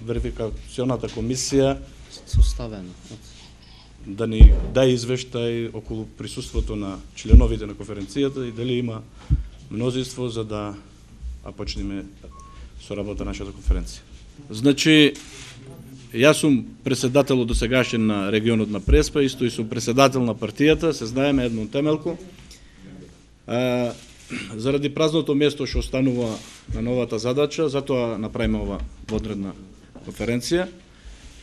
верификационата комисија составено да ни даде извештај околу присуството на членовите на конференцијата и дали има мнозинство за да почнеме со работа нашата конференција. Значи, јас сум председател досегашен на регионот на Преспа, исто и сум председател на партијата, се знаеме Едмон Темелко. Заради празното место што останува на новата задача, затоа направиме ова водредна конференција.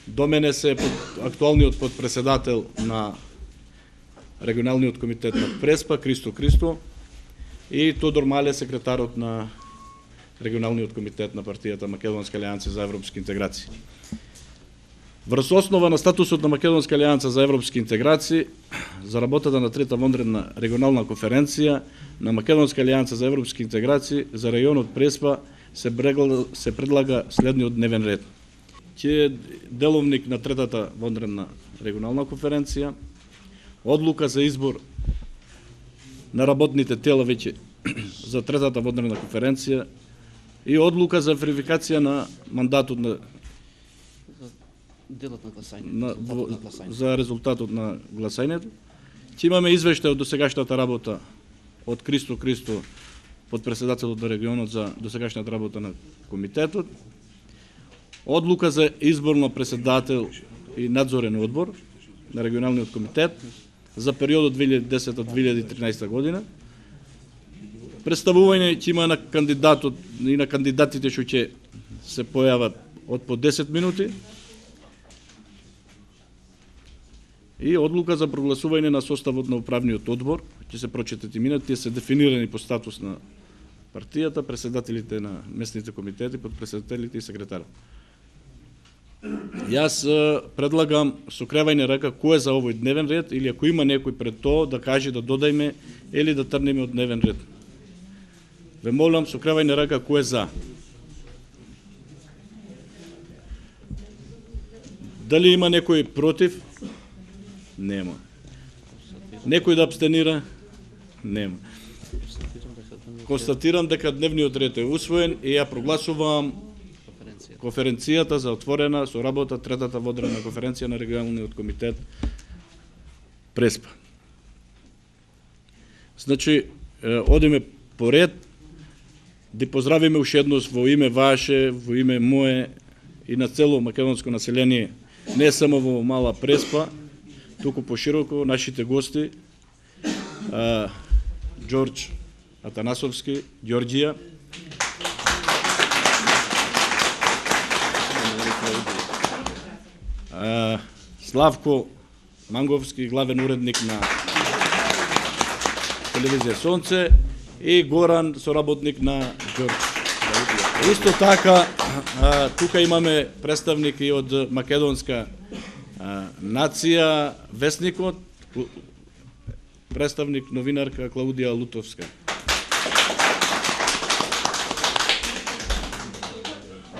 До мене се актуалниот подпредседател на регионалниот комитет на Преспа, Кристо Кристо, и Тодор Мале, секретарот на регионалниот комитет на партијата Македонска алијанса за европски интеграции. Врз основа на статусот на Македонска алијанса за европски интеграции, за работата на трета вонредна регионална конференција на Македонска алијанса за европски интеграции за районот Преспа се предлага следниот дневен ред. Ќе е деловник на третата вонредна регионална конференција, одлука за избор на работните тела веќе за третата вонредна конференција и одлука за верификација на мандатот на делот на гласањето, за резултатот на гласањето. Ќе имаме извештај од досегашната работа од Кристо Кристо, подпредседателот на регионот за досегашната работа на комитетот, одлука за избор на председател и надзорен одбор на регионалниот комитет за периодот 2010-2013 година. Представување ќе има на кандидатот и на кандидатите што ќе се појават од по 10 минути и одлука за прогласување на составот на управниот одбор. Ќе се прочитат имината, тие се дефинирани по статус на партијата, председателите на местните комитети, подпредседателите и секретарот. Јас предлагам со кревање рака кој е за овој дневен ред или ако има некој пред тоа да каже да додајме или да трнеме од дневен ред. Ве молам со кревање рака кој е за. Дали има некој против? Нема. Некој да абстенира? Нема. Констатирам дека дневниот ред е усвоен и ја прогласувам конференцијата за отворена со работа третата водредна конференција на регионалниот комитет Преспа. Значи, одиме по ред, да поздравиме уште еднос во име ваше, во име мое и на цело македонско население, не само во мала Преспа, туку пошироко нашите гости, Ѓорѓ Атанасовски, Ѓорѓија, Славко Манговски, главен уредник на телевизија Сонце, и Горан, соработник на Ѓорѓ. Исто така, тука имаме представник и од македонска нација, Весникот, представник новинарка Клаудија Лутовска.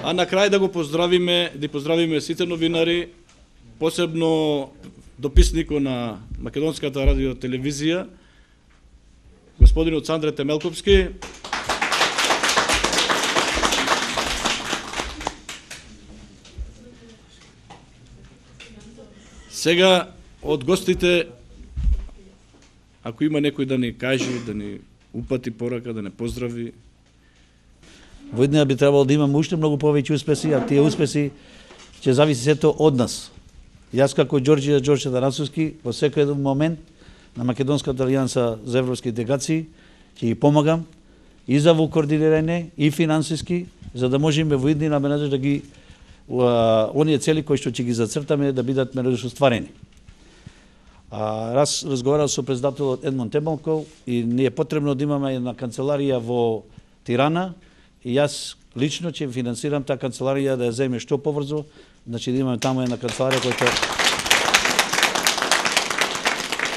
А на крај да поздравиме сите новинари, посебно дописникот на Македонската радио телевизија, господинот Сандре Темелковски, сега од гостите, ако има некој да ни каже, да ни упати порака, да не поздрави. Во иднина би требало да имаме уште многу повеќе успеси, а тие успеси ќе зависи сето од нас. Јас како Ѓорѓ Атанасовски во секој еден момент на Македонската алијанса за европски интеграции ќе ги помагам и за во координирање и финансиски, за да можеме во иднина да ги оние цели кои што ќе ги зацртаме да бидат менадош остварени. Раз разговарал со председателот Едмон Темелко и не е потребно да имаме една канцеларија во Тирана и јас лично ќе финансирам таа канцеларија да ја земе што побрзо, значи да имаме таму една канцеларија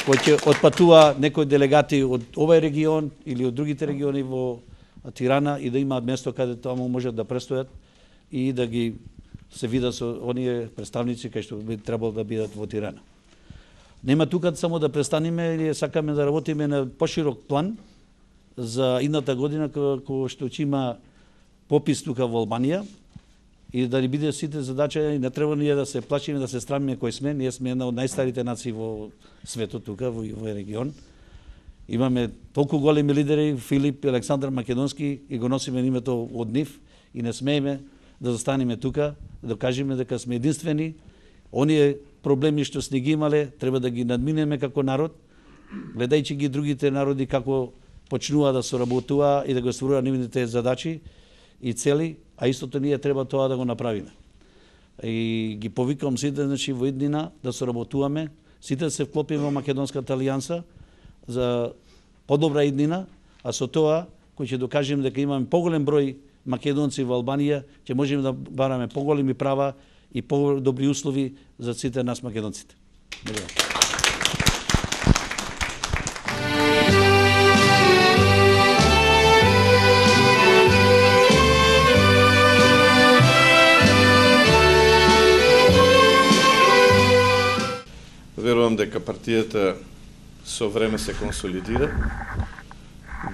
кој ќе отпатува некои делегати од овој регион или од другите региони во Тирана и да имаат место каде таму можат да престојат и да ги се видат со оние представници кои што би требало да бидат во Тирана. Нема тука само да престанеме или сакаме да работиме на поширок план за идната година, кога што ќе има попис тука во Албанија и да ни биде сите задача, и не треба ние да се плашиме, да се страмиме кој сме. Ние сме една од најстарите нации во светот тука, во овој регион. Имаме толку големи лидери, Филип и Александар Македонски, и го носиме името од нив и не смееме да застанеме тука, да кажеме дека сме единствени. Оние проблеми што сме ги имале, треба да ги надминеме како народ, гледајќи ги другите народи како почнува да соработува и да го стварува нивните задачи и цели, а истото ние треба тоа да го направиме. И ги повикам сите, значи, во иднина да соработуваме, сите да се вклопиме во Македонската алијанса за подобра иднина, а со тоа кој ќе докажеме дека имаме поголем број македонци во Албанија, ќе можеме да бараме поголеми права и подобри услови за сите нас македонците. Благодарам. Верувам дека партијата со време се консолидира,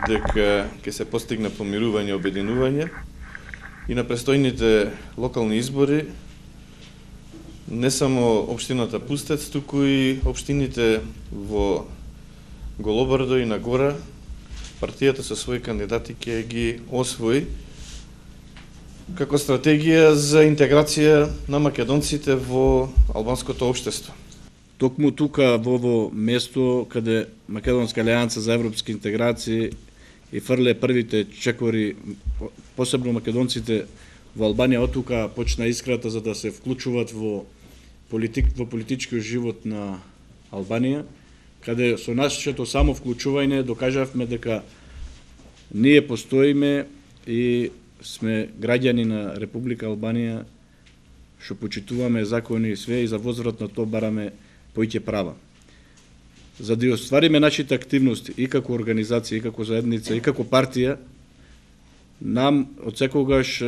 дека ќе се постигне помирување и обединување и на престојните локални избори не само општината Пустец, туку и општините во Голобардо и Нагора, партијата со своји кандидати ќе ги освои како стратегија за интеграција на македонците во албанското општество. Токму тука во ово место каде Македонска алијанса за европски интеграции и фрле првите чекори, посебно македонците во Албанија, од тука почна искрата за да се вклучуваат во политичкиот живот на Албанија, каде со нашето само вклучување докажавме дека ние постоиме и сме граѓани на Република Албанија, што почитуваме закони и све, и за возврат на тоа бараме поиќе права. За да оствариме нашите активности и како организација, и како заедница, и како партија, нам од секогаш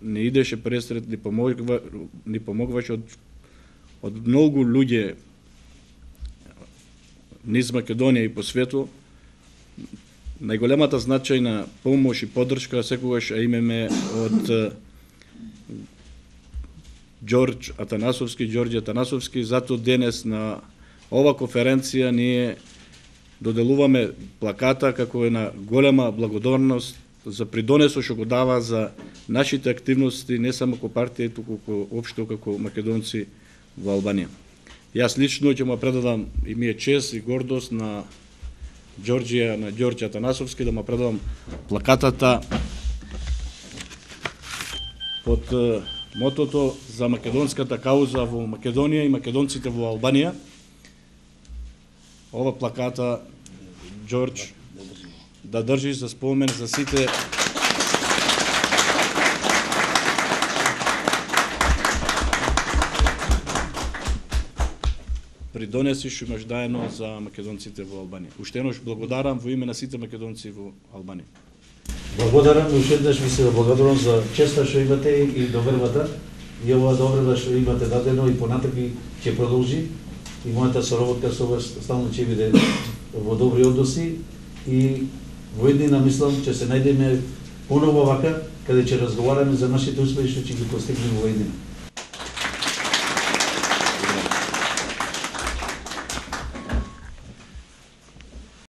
не идеше пресред, ни помогваше од многу луѓе низ Македонија и по свету. Најголемата значајна помош и поддршка секогаш имаме од Ѓорѓе Атанасовски, затоа денес на ова конференција ние доделуваме плаката како една голема благодарност за придонесот што го дава за нашите активности не само како партија, туку општо како македонци во Албанија. Јас лично ќе му предадам и ми е чест и гордост на Ѓорѓе Атанасовски да му предадам плакатата под мотото за македонската кауза во Македонија и македонците во Албанија. Ова плаката, Ѓорѓ, да држиш за спомен за сите придонеси што имаш даено за македонците во Албанија. Уште еднаш благодарам во име на сите македонци во Албанија. Благодарам уште еднаш, ви се благодарам за честа што имате и довербата и оваа доверба што имате дадено и понатаки ќе продолжи и мојата соработка со вас стално ќе биде во добри односи и во еднина мислам ќе се најдеме поново вака каде ќе разговараме за нашите успехи што ќе ги постигнеме во еднина.